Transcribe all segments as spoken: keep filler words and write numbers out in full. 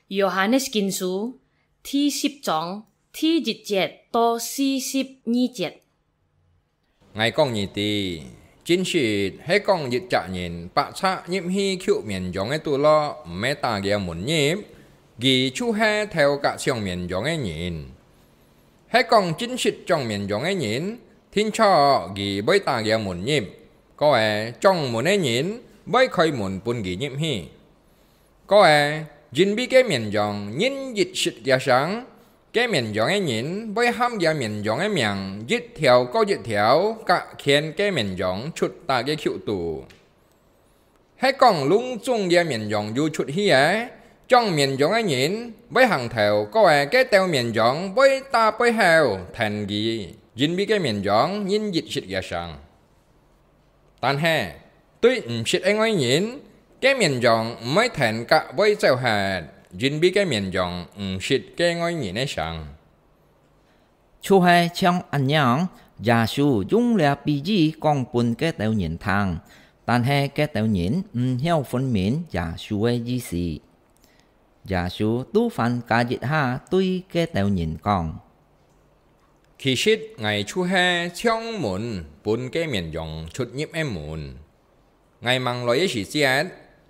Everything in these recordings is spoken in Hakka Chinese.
Yohanes Kinh書第十章第一節到四十二節。 𠊎講你知，真實係講一隻人白賊入去求綿羊个肚落，毋係打佢个門入，佢就係偷㧯搶綿羊个人。係講真實掌綿羊个人，定著佢會打佢个門入，過仔掌門个人會開門分佢入去。過仔，因為該綿羊認一識厥聲， 該綿羊个人會喊厥綿羊个名一條過一條㧯牽該綿羊出大个虯肚。係講攏總厥綿羊有出去仔，掌綿羊个人會行頭，過仔該兜綿羊會打背後跈佢，因為該綿羊認一識厥聲。 但係，對毋識个外人，該綿羊毋會跈㧯會走忒，因為該綿羊毋識該外人个聲。」 就係像恁樣，耶穌用這比喻講分該兜人聽，但係該兜人毋曉分明耶穌个意思。耶穌都還加一下對該兜人講： 其實𠊎就係像門分該綿羊出入个門。𠊎吂來个時節，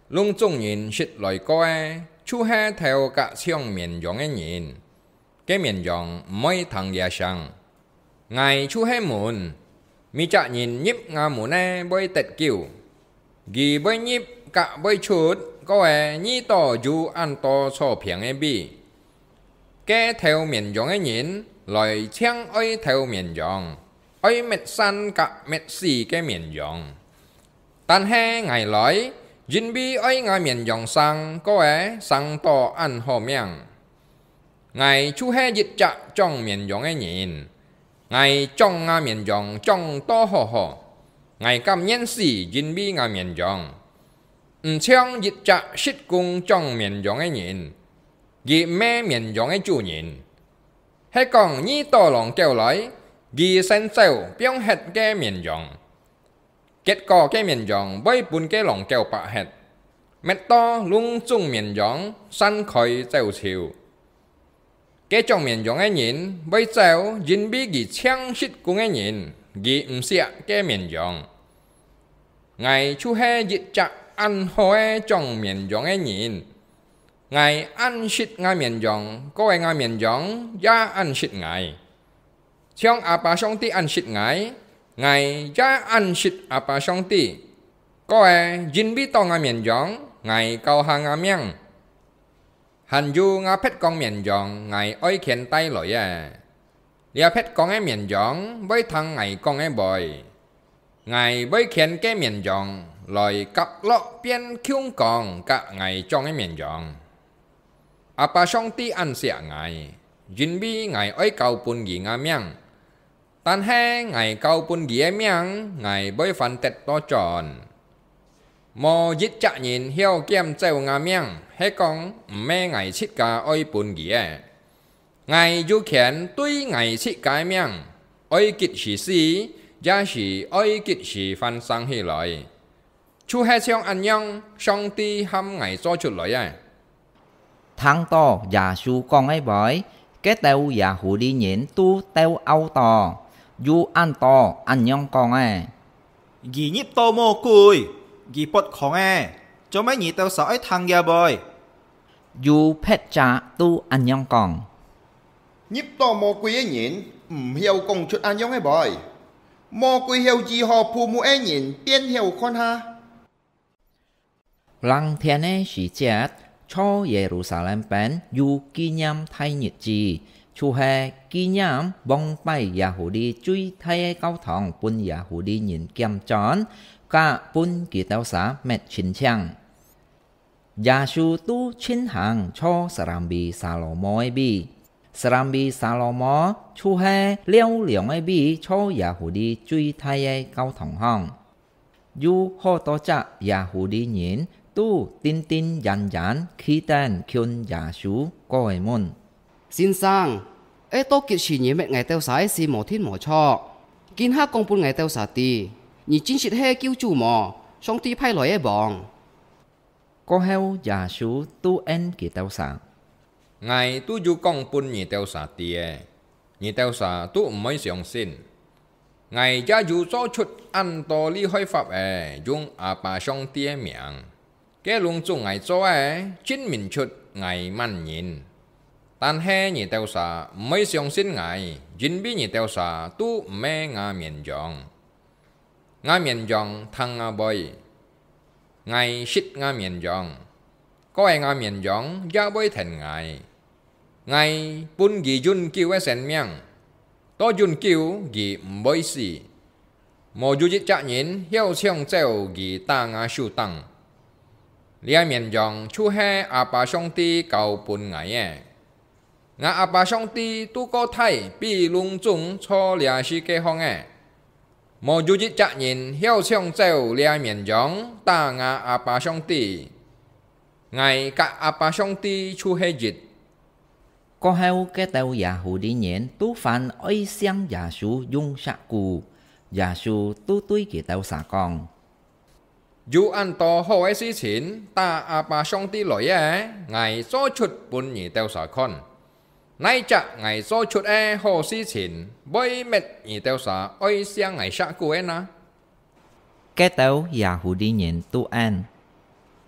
攏總人識來過仔，就係偷㧯搶綿羊个人。該綿羊毋會聽厥聲。𠊎就係門，每隻人入吾門仔會得救。 佢會入㧯會出，過仔遇著有恁多坐平个位。該偷綿羊个人來淨愛偷綿羊，愛滅散㧯滅死該綿羊。但係𠊎來，因為愛吾綿羊生，過仔生到恁好命。 𠊎就係一隻掌綿羊个人，𠊎掌吾綿羊掌到好好，𠊎甘願死因為吾綿羊。毋像一隻失公掌綿羊个人，佢毋係綿羊个主人。係講遇著狼狗來，佢先走放忒該綿羊。 結果該綿羊會分該狼狗粄忒，滅到攏總綿羊散開走賰。該掌綿羊个人會走，因為佢淨識公个人，佢毋惜該綿羊。𠊎就係一隻恁好个掌綿羊个人，𠊎恁識吾綿羊，過仔吾綿羊也恁識𠊎。 像阿爸上帝恁識𠊎，𠊎也恁識阿爸上帝。過仔，因為著吾綿羊，𠊎交下吾命。還有吾別降綿羊，𠊎愛牽帶來仔。這別降个綿羊會聽𠊎講个話，𠊎會牽該綿羊來合落變共樣㧯𠊎掌个綿羊。 阿爸上帝恁惜𠊎，因為𠊎愛交分佢吾命。但係𠊎交分佢个命，𠊎會還得倒轉。無一隻人曉撿走吾命，係講毋係𠊎自家愛分佢个。𠊎有權對𠊎自家个命，愛幾時死，也係愛幾時還生起來。 就係像恁樣，上帝喊𠊎做出來仔。」 聽著耶穌講个話，該兜耶戶利人都鬥漚著，有恁多恁樣講仔： 佢入著魔鬼，佢發狂仔，做麼你兜儕愛聽厥話？ 有別隻都恁樣講： 入著魔鬼个人毋曉講出恁樣个話，魔鬼曉醫好瞨目个人，便曉看下。 冷天个時節，在耶路撒冷邊有紀念大日子，就係紀念往擺耶戶利最大个教堂分耶戶利人撿轉，佮分佢兜儕滅淨淨。 耶穌都盡行在Serambi Salomo个位。Serambi Salomo就係尞涼个位，在耶戶利最大个教堂項。有好多隻耶戶利人都定定然然企等近耶穌，過仔問：「先生，愛到幾時你滅𠊎兜儕个事無定無著？今下講分𠊎兜儕知，你真實係救主無？上帝派來个王？」 過後，耶穌都應佢兜儕： 𠊎都有講分你兜儕知，你兜儕都毋會相信。𠊎也有做出恁多厲害法仔，用阿爸上帝个名。該攏總𠊎做个，證明出𠊎麼人。但係你兜儕毋會相信𠊎，因為你兜儕都毋係吾綿羊。吾綿羊聽吾話，𠊎識吾綿羊，過个吾綿羊也會跈𠊎。𠊎分佢永久个生命，到永久佢毋會死。無有一隻人曉搶走佢打吾手頂。這綿羊就係阿爸上帝交分𠊎个。吾阿爸上帝都過大，比攏總坐這世界項个。無有一隻人曉搶走這綿羊打吾阿爸上帝。𠊎佮阿爸上帝就係一。過後，該兜Yahudi人都還愛惜耶穌用石牯。耶穌都對佢兜儕講：有恁多好个事情打阿爸上帝來个，𠊎做出分你兜儕看。哪隻𠊎做出个好事情會搣你兜儕愛惜𠊎石牯个呢？該兜Yahudi人都應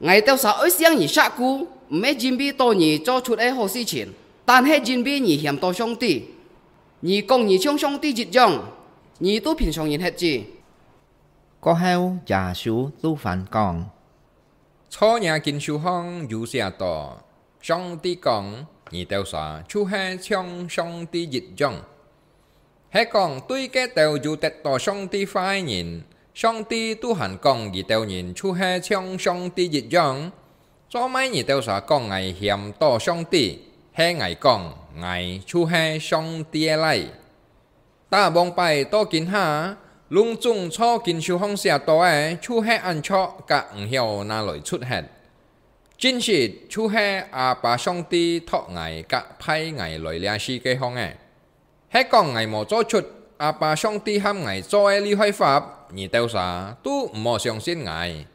：𠊎兜儕愛惜你石牯，毋係因為到你做出个好事情，但係因為你嫌到上帝。你講你像上帝一樣，你都比常人核子。過後，耶穌都還講：在若經書項有寫到，上帝講：你兜儕就係像上帝一樣。係講對該兜有得到上帝話个人，上帝都還講佢兜人就係像上帝一樣。做麼你兜儕講𠊎嫌到上帝？係𠊎講，𠊎就係上帝个倈。 打往擺到今下，攏總在經書項寫到个，就係恁著甲毋曉拿來出現。真實就係阿爸上帝託𠊎甲派𠊎來這世界項个。係講𠊎無做出阿爸上帝喊𠊎做个厲害法，你兜儕都毋好相信𠊎。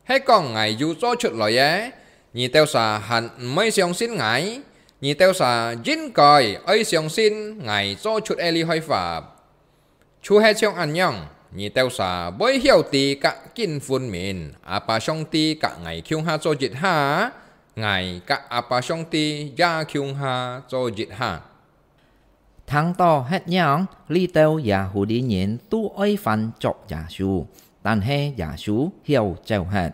係講𠊎有做出來个，你兜儕還毋會相信𠊎？你兜儕應該愛相信𠊎做出个厲害法。就係像恁樣，你兜儕會曉得甲緊分明，阿爸上帝甲𠊎共下做一下，𠊎甲阿爸上帝也共下做一下。 聽到恁樣，這兜Yahudi人都愛還捉耶穌，但係耶穌曉走忒。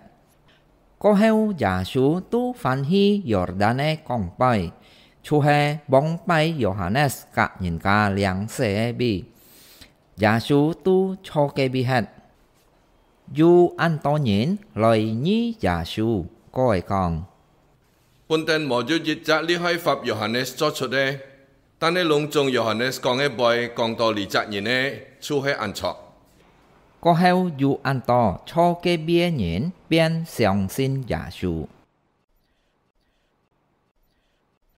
過後，耶穌都還去Yordan个江背，就係往擺Yohanes甲人家領洗个位。耶穌都坐該位忒。有恁多人來疑耶穌，過來講： 本等無有一隻厲害法Yohanes做出个，但係攏總Yohanes講个話講到這隻人个，就係恁著。過後有恁多坐該位个人便相信耶穌。